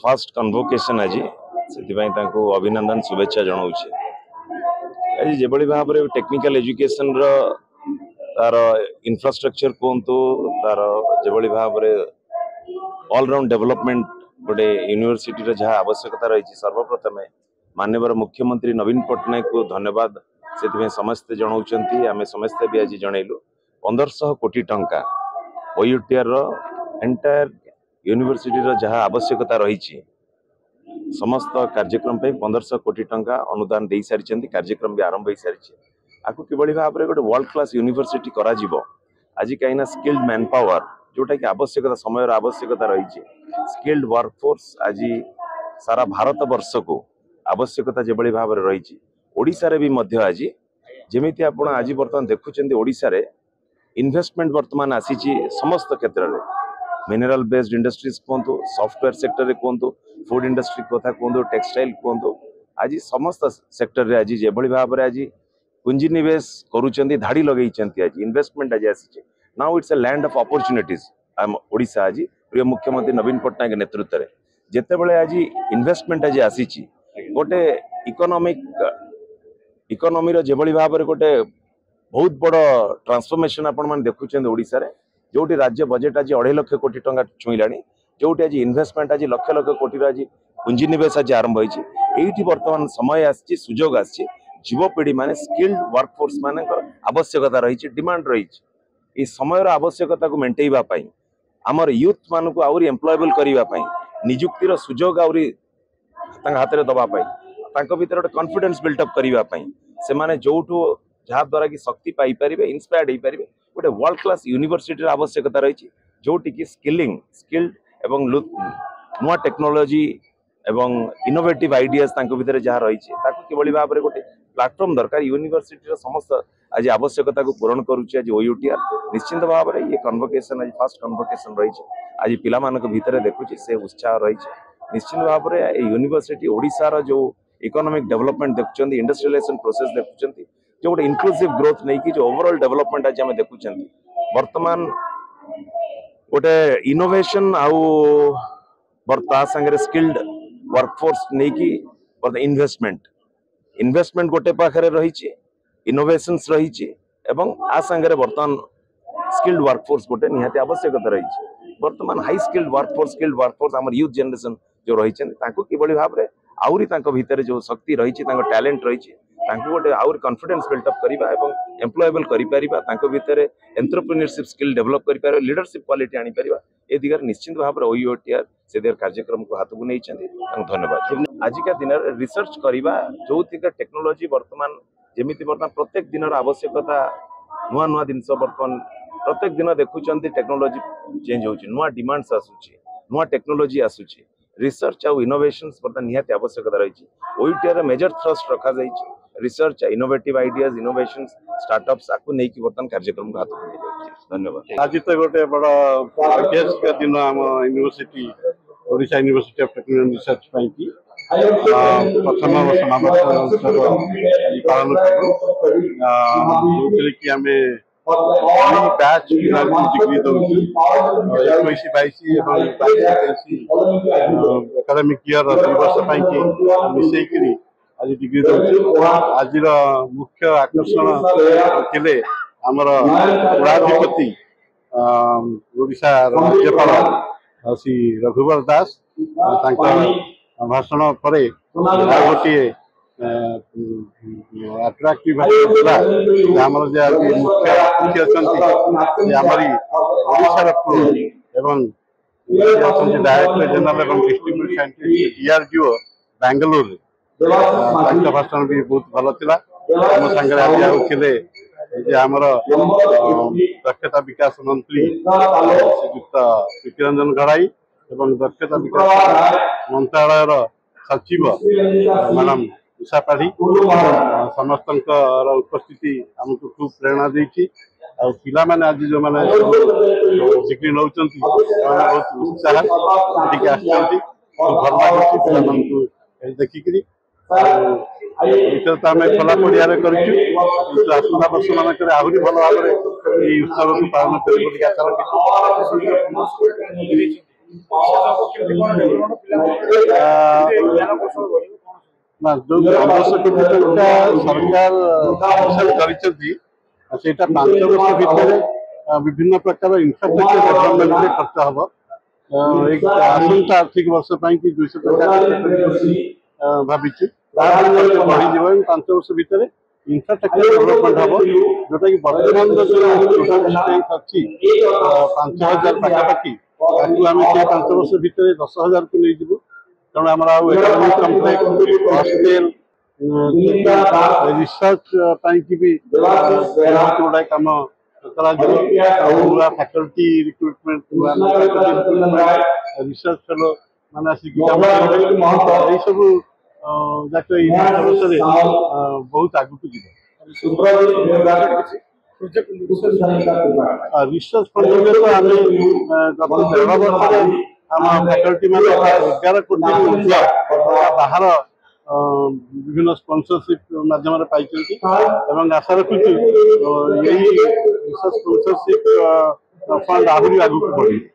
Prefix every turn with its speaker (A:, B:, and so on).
A: First convocation ଆଜି, ସେଥିପାଇଁ ତାଙ୍କୁ ଅଭିନନ୍ଦନ, ଶୁଭେଚ୍ଛା ଜଣାଉଛି। ଆଜି ଯେଭଳି ଭାବରେ ଟେକ୍ନିକାଲ ଏଜୁକେସନର ତାର ଇନଫ୍ରାଷ୍ଟ୍ରକ୍ଚର କୁହନ୍ତୁ, ତାର ଯେଭଳି ଭାବରେ ଅଲରାଉଣ୍ଡ ଡେଭଲପମେଣ୍ଟ ଗୋଟେ ୟୁନିଭର୍ସିଟିର ଯାହା ଆବଶ୍ୟକତା ରହିଛି, ସର୍ବପ୍ରଥମେ ମାନ୍ୟବର ମୁଖ୍ୟମନ୍ତ୍ରୀ ନବୀନ ପଟ୍ଟନାୟକଙ୍କୁ ଧନ୍ୟବାଦ ସେଥିପାଇଁ ସମସ୍ତେ ଜଣାଉଛନ୍ତି। ଆମେ ସମସ୍ତେ ବି ଆଜି ଜଣେଇଲୁ। 1500 କୋଟି ଟଙ୍କା ଓୟୁଟିଆର ର ଏଣ୍ଟାୟାର ୟୁନିଭର୍ସିଟିର ଯାହା ଆବଶ୍ୟକତା ରହିଛି, ସମସ୍ତ କାର୍ଯ୍ୟକ୍ରମ ପାଇଁ 1500 କୋଟି ଟଙ୍କା ଅନୁଦାନ ଦେଇସାରିଛନ୍ତି। କାର୍ଯ୍ୟକ୍ରମ ବି ଆରମ୍ଭ ହୋଇସାରିଛି। ଆକୁ କିଭଳି ଭାବରେ ଗୋଟେ ୱାର୍ଲଡ କ୍ଲାସ ୟୁନିଭର୍ସିଟି କରାଯିବ ଆଜି, କାହିଁକିନା ସ୍କିଲ୍ଡ ମ୍ୟାନ ପାୱାର ଯୋଉଟାକି ଆବଶ୍ୟକତା, ସମୟର ଆବଶ୍ୟକତା ରହିଛି। ସ୍କିଲ୍ଡ ୱାର୍କ ଫୋର୍ସ ଆଜି ସାରା ଭାରତ ବର୍ଷକୁ ଆବଶ୍ୟକତା ଯେଭଳି ଭାବରେ ରହିଛି, ଓଡ଼ିଶାରେ ବି ମଧ୍ୟ ଆଜି ଯେମିତି ଆପଣ ଆଜି ବର୍ତ୍ତମାନ ଦେଖୁଛନ୍ତି, ଓଡ଼ିଶାରେ ଇନଭେଷ୍ଟମେଣ୍ଟ ବର୍ତ୍ତମାନ ଆସିଛି ସମସ୍ତ କ୍ଷେତ୍ରରେ। ମିନେରାଲ ବେସ୍ଡ ଇଣ୍ଡଷ୍ଟ୍ରିଜ କୁହନ୍ତୁ, ସଫ୍ଟୱେୟାର ସେକ୍ଟରରେ କୁହନ୍ତୁ, ଫୁଡ ଇଣ୍ଡଷ୍ଟ୍ରି କଥା କୁହନ୍ତୁ, ଟେକ୍ସଟାଇଲ କୁହନ୍ତୁ, ଆଜି ସମସ୍ତ ସେକ୍ଟରରେ ଆଜି ଯେଭଳି ଭାବରେ ଆଜି ପୁଞ୍ଜିନିବେଶ କରୁଛନ୍ତି, ଧାଡ଼ି ଲଗେଇଛନ୍ତି, ଆଜି ଇନଭେଷ୍ଟମେଣ୍ଟ ଆଜି ଆସିଛି। Now it's a land of opportunities ଆମ ଓଡ଼ିଶା ଆଜି ପ୍ରିୟ ମୁଖ୍ୟମନ୍ତ୍ରୀ ନବୀନ ପଟ୍ଟନାୟକ ନେତୃତ୍ୱରେ। ଯେତେବେଳେ ଆଜି ଇନଭେଷ୍ଟମେଣ୍ଟ ଆଜି ଆସିଛି, ଗୋଟେ ଇକୋନୋମିର ଯେଭଳି ଭାବରେ ଗୋଟେ ବହୁତ ବଡ଼ ଟ୍ରାନ୍ସଫର୍ମେସନ ଆପଣମାନେ ଦେଖୁଛନ୍ତି ଓଡ଼ିଶାରେ, ଯୋଉଠି ରାଜ୍ୟ ବଜେଟ୍ ଆଜି 2.5 ଲକ୍ଷ କୋଟି ଟଙ୍କା ଛୁଇଁଲାଣି, ଯୋଉଠି ଆଜି ଇନଭେଷ୍ଟମେଣ୍ଟ ଆଜି ଲକ୍ଷ ଲକ୍ଷ କୋଟିର ଆଜି ପୁଞ୍ଜିନିବେଶ ଆଜି ଆରମ୍ଭ ହେଇଛି, ଏଇଠି ବର୍ତ୍ତମାନ ସମୟ ଆସିଛି, ସୁଯୋଗ ଆସିଛି। ଯୁବପିଢ଼ି ମାନେ ସ୍କିଲ୍ଡ ୱାର୍କ ଫୋର୍ସ ମାନଙ୍କର ଆବଶ୍ୟକତା ରହିଛି, ଡିମାଣ୍ଡ ରହିଛି। ଏଇ ସମୟର ଆବଶ୍ୟକତାକୁ ମେଣ୍ଟେଇବା ପାଇଁ, ଆମର ୟୁଥ୍ ମାନଙ୍କୁ ଆହୁରି ଏମ୍ପ୍ଲଏବଲ କରିବା ପାଇଁ, ନିଯୁକ୍ତିର ସୁଯୋଗ ଆହୁରି ତାଙ୍କ ହାତରେ ଦେବା ପାଇଁ, ତାଙ୍କ ଭିତରେ ଗୋଟେ କନଫିଡେନ୍ସ ବିଲ୍ଟଅପ୍ କରିବା ପାଇଁ, ସେମାନେ ଯୋଉଠୁ ଯାହା ଦ୍ୱାରା କି ଶକ୍ତି ପାଇପାରିବେ, ଇନ୍ସପାୟାର୍ଡ ହେଇପାରିବେ, ଗୋଟେ ୱାର୍ଲଡ କ୍ଲାସ ୟୁନିଭର୍ସିଟିର ଆବଶ୍ୟକତା ରହିଛି, ଯୋଉଠିକି ସ୍କିଲିଂ, ସ୍କିଲ୍ଡ ଏବଂ ନୂଆ ଟେକ୍ନୋଲୋଜି ଏବଂ ଇନୋଭେଟିଭ ଆଇଡିଆଜ ତାଙ୍କ ଭିତରେ ଯାହା ରହିଛି, ତାକୁ କିଭଳି ଭାବରେ ଗୋଟେ ପ୍ଲାଟଫର୍ମ ଦରକାର। ୟୁନିଭର୍ସିଟିର ସମସ୍ତ ଆଜି ଆବଶ୍ୟକତାକୁ ପୂରଣ କରୁଛି ଆଜି ଓୟୁଟିଆର। ନିଶ୍ଚିନ୍ତ ଭାବରେ ଇଏ କନଭୋକେସନ ଆଜି ଫାଷ୍ଟ କନଭୋକେସନ ରହିଛି। ଆଜି ପିଲାମାନଙ୍କ ଭିତରେ ଦେଖୁଛି ସେ ଉତ୍ସାହ ରହିଛି। ନିଶ୍ଚିନ୍ତ ଭାବରେ ଏଇ ୟୁନିଭର୍ସିଟି ଓଡ଼ିଶାର ଯୋଉ ଇକୋନୋମିକ ଡେଭଲପମେଣ୍ଟ ଦେଖୁଛନ୍ତି, ଇଣ୍ଡଷ୍ଟ୍ରିଆଲାଇଜେସନ ପ୍ରୋସେସ ଦେଖୁଛନ୍ତି, ଯୋଉ ଗୋଟେ ଇନକ୍ଲୁସିଭ ଗ୍ରୋଥ ନେଇକି ଯୋଉ ଓଭରଅଲ ଡେଭଲପମେଣ୍ଟ ଆଜି ଆମେ ଦେଖୁଛନ୍ତି, ବର୍ତ୍ତମାନ ଗୋଟେ ଇନୋଭେସନ ଆଉ ତା ସାଙ୍ଗରେ ସ୍କିଲ୍ଡ ୱାର୍କଫୋର୍ସ ନେଇକି ବର୍ତ୍ତମାନ ଇନଭେଷ୍ଟମେଣ୍ଟ ଗୋଟେ ପାଖରେ ରହିଛି, ଇନୋଭେସନ୍ସ ରହିଛି ଏବଂ ଆ ସାଙ୍ଗରେ ବର୍ତ୍ତମାନ ସ୍କିଲ୍ଡ ୱାର୍କଫୋର୍ସ ଗୋଟେ ନିହାତି ଆବଶ୍ୟକତା ରହିଛି। ବର୍ତ୍ତମାନ high skilled workforce, skilled workforce ଆମର ୟୁଥ୍ ଜେନେରେସନ ଯୋଉ ରହିଛନ୍ତି, ତାଙ୍କୁ କିଭଳି ଭାବରେ ଆହୁରି ତାଙ୍କ ଭିତରେ ଯୋଉ ଶକ୍ତି ରହିଛି, ତାଙ୍କ ଟ୍ୟାଲେଣ୍ଟ ରହିଛି, ତାଙ୍କୁ ଗୋଟେ ଆହୁରି କନଫିଡେନ୍ସ ବିଲ୍ଟଅପ୍ କରିବା ଏବଂ ଏମ୍ପ୍ଲଏବଲ କରିପାରିବା, ତାଙ୍କ ଭିତରେ ଏଣ୍ଟରପ୍ରିନିୟରସିପ୍ ସ୍କିଲ୍ ଡେଭଲପ୍ କରିପାରିବା, ଲିଡରସିପ୍ କ୍ୱାଲିଟି ଆଣିପାରିବା, ଏ ଦିଗରେ ନିଶ୍ଚିନ୍ତ ଭାବରେ ଓୟୁଟିଆର ସେ ଦିଗରେ କାର୍ଯ୍ୟକ୍ରମକୁ ହାତକୁ ନେଇଛନ୍ତି। ତାଙ୍କୁ ଧନ୍ୟବାଦ। ଆଜିକା ଦିନରେ ରିସର୍ଚ୍ଚ କରିବା, ଯୋଉଥିରେ ଟେକ୍ନୋଲୋଜି ବର୍ତ୍ତମାନ ଯେମିତି ବର୍ତ୍ତମାନ ପ୍ରତ୍ୟେକ ଦିନର ଆବଶ୍ୟକତା, ନୂଆ ନୂଆ ଜିନିଷ ବର୍ତ୍ତମାନ ପ୍ରତ୍ୟେକ ଦିନ ଦେଖୁଛନ୍ତି, ଟେକ୍ନୋଲୋଜି ଚେଞ୍ଜ ହଉଛି, ନୂଆ ଡିମାଣ୍ଡସ୍ ଆସୁଛି, ନୂଆ ଟେକ୍ନୋଲୋଜି ଆସୁଛି। ରିସର୍ଚ୍ଚ ଆଉ ଇନୋଭେସନ୍ସ ବର୍ତ୍ତମାନ ନିହାତି ଆବଶ୍ୟକତା ରହିଛି। ଓୟୁଟିଆର ମେଜର ଥ୍ରଷ୍ଟ ରଖାଯାଇଛି research, innovative ideas, innovations, startups, ଆକୁ ନେଇକି ବର୍ତ୍ତମାନ କାର୍ଯ୍ୟକ୍ରମକୁ ହାତକୁ ନିଆଯାଉଛି। ଧନ୍ୟବାଦ।
B: ଆଜି ତ ଗୋଟେ ବଡ଼ ଐତିହାସିକ ଦିନ ଆମ university, Odisha university of technology research ପାଇଁକି। ପ୍ରଥମ ସମାବର୍ତ୍ତନ ଉତ୍ସବ ଆଜି ପାଳନ କଲୁ, ଯେଉଁଥିରେ କି ଆମେ ଦୁଇ ବ୍ୟାଚ୍ ପିଲାଙ୍କୁ ଡିଗ୍ରୀ ଦଉଛୁ। 21-22 ଏବଂ 22-23 ଏକାଡେମିକ୍ ଇୟର 2 ବର୍ଷ ପାଇଁକି ମିଶେଇକିରି ଆଜି ଡିଗ୍ରୀ ଦଉଛୁ। ଆଜିର ମୁଖ୍ୟ ଆକର୍ଷଣ ଥିଲେ ଆମର କୁଳାଧିପତି, ଓଡ଼ିଶାର ରାଜ୍ୟପାଳ ଶ୍ରୀ ରଘୁବର ଦାସ। ତାଙ୍କ ଭାଷଣ ପରେ ଆଉ ଗୋଟିଏ ଆଟ୍ରାକ୍ଟିଭ ଭାଷଣ ଥିଲା ଯେ ଆମର ଯେ ଆଜି ମୁଖ୍ୟ ଅତିଥି ଅଛନ୍ତି, ସେ ଆମରି ଓଡ଼ିଶାର ପୁଅ ଏବଂ ସେ ଅଛନ୍ତି ଡାଇରେକ୍ଟର ଜେନେରାଲ ଏବଂ ଡିଷ୍ଟ୍ରିକ୍ଟ ସାଇଣ୍ଟିଷ୍ଟ ଡିଆରଡିଓ ବାଙ୍ଗାଲୋରରେ। ତାଙ୍କ ଭାଷଣ ବି ବହୁତ ଭଲ ଥିଲା। ଆମ ସାଙ୍ଗରେ ଆଜି ଆଉ ଥିଲେ ଯେ ଆମର ଦକ୍ଷତା ବିକାଶ ମନ୍ତ୍ରୀ ଶ୍ରୀଯୁକ୍ତ ପ୍ରୀତିରଞ୍ଜନ ଘଡ଼ାଇ ଏବଂ ଦକ୍ଷତା ବିକାଶ ମନ୍ତ୍ରାଳୟର ସଚିବ ମ୍ୟାଡ଼ାମ ଉଷା ପାଢ଼ୀ। ସମସ୍ତଙ୍କର ଉପସ୍ଥିତି ଆମକୁ ଖୁବ୍ ପ୍ରେରଣା ଦେଇଛି। ଆଉ ପିଲାମାନେ ଆଜି ଯୋଉମାନେ ଡିଗ୍ରୀ ନେଉଛନ୍ତି, ସେମାନେ ବହୁତ ଉତ୍ସାହ ଏଠିକି ଆସିଛନ୍ତି। ଖୁବ୍ ଭଲ ଲାଗୁଛି ପିଲାମାନଙ୍କୁ ଏଠି ଦେଖିକିରି। ଆଉ ଏଥର ତ ଆମେ ଖୋଲା ପଡ଼ିଆରେ କରିଛୁ, କିନ୍ତୁ ଆସନ୍ତା ବର୍ଷ ମାନଙ୍କରେ ଆହୁରି ଭଲ ଭାବରେ ଏଇ ଉତ୍ସବକୁ ପାଳନ କରିବୁ ବୋଲି ଆଶା ରଖିଛୁ।
C: କେମିତି କଣ ଡେଭଲପମେଣ୍ଟ, ପିଲାଙ୍କ ଜ୍ଞାନ କୌଶଳ ବଢିବ, କଣ ସବୁ?
B: ନା, ଯୋଉ 1500 କୋଟି ଟଙ୍କା ସରକାର ସାଙ୍କସନ୍ କରିଛନ୍ତି, ସେଇଟା 5 ବର୍ଷ ଭିତରେ ବିଭିନ୍ନ ପ୍ରକାର ଇନଫ୍ରାଷ୍ଟ୍ରକ୍ଚର ଡେଭଲପମେଣ୍ଟରେ ଖର୍ଚ୍ଚ ହବ। ଏଇ ଆସନ୍ତା ଆର୍ଥିକ ବର୍ଷ ପାଇଁ କି 200 ଟଙ୍କା ଖର୍ଚ୍ଚ କରିବୁ ବୋଲି ଭାବିଛୁ। ତାପରେ ଖର୍ଚ୍ଚ ବଢିଯିବ ଏବଂ 5 ବର୍ଷ ଭିତରେ ଇନଫ୍ରାଷ୍ଟ୍ରକ୍ଚର ଡେଭଲପମେଣ୍ଟ ହବ, ଯୋଉଟା କି ବର୍ତ୍ତମାନର ଯୋଉ ଟୋଟାଲ ଷ୍ଟ୍ରେନ୍ଥ ଅଛି 5000 ପାଖାପାଖି, ତାକୁ ଆମେ ସେଇ 5 ବର୍ଷ ଭିତରେ 10,000କୁ ନେଇଯିବୁ। ତେଣୁ ଆମର ଆଉ ଏକାଡେମିକ କମ୍ପ୍ଲେକ୍ସ, ହଷ୍ଟେଲ, ରିସର୍ଚ୍ଚ ପାଇଁକି ବି ବହୁତ ଗୁଡାଏ କାମ କରାଯିବ। ଆଉ ନୂଆ ଫ୍ୟାକଲ୍ଟି ରିକ୍ରୁଟମେଣ୍ଟ, ନୂଆ ରିସର୍ଚ୍ଚ ଫେଲୋ ମାନେ ଆସିକି କାମ କରିବେ। ଏଇ ସବୁ ଯାକ ଏଇ 5 ବର୍ଷରେ ବହୁତ ଆଗକୁ ଯିବ।
C: Project research?
B: ରିସର୍ଚ୍ଚ ଫଣ୍ଡରେ ତ ଆମେ ଗତ ଦେଢ଼ ବର୍ଷରେ ଆମ ଫ୍ୟାକଲ୍ଟି ମାନେ 11 କୋଟିରୁ ଉର୍ଦ୍ଧ୍ୱ ଟଙ୍କା ବାହାର ବିଭିନ୍ନ ସ୍ପନ୍ସରସିପ ମାଧ୍ୟମରେ ପାଇଛନ୍ତି ଏବଂ ଆଶା ରଖୁଛୁ ଏଇ ରିସର୍ଚ୍ଚ ସ୍ପନ୍ସରସିପ ଫଣ୍ଡ ଆହୁରି ଆଗକୁ ବଢିବ।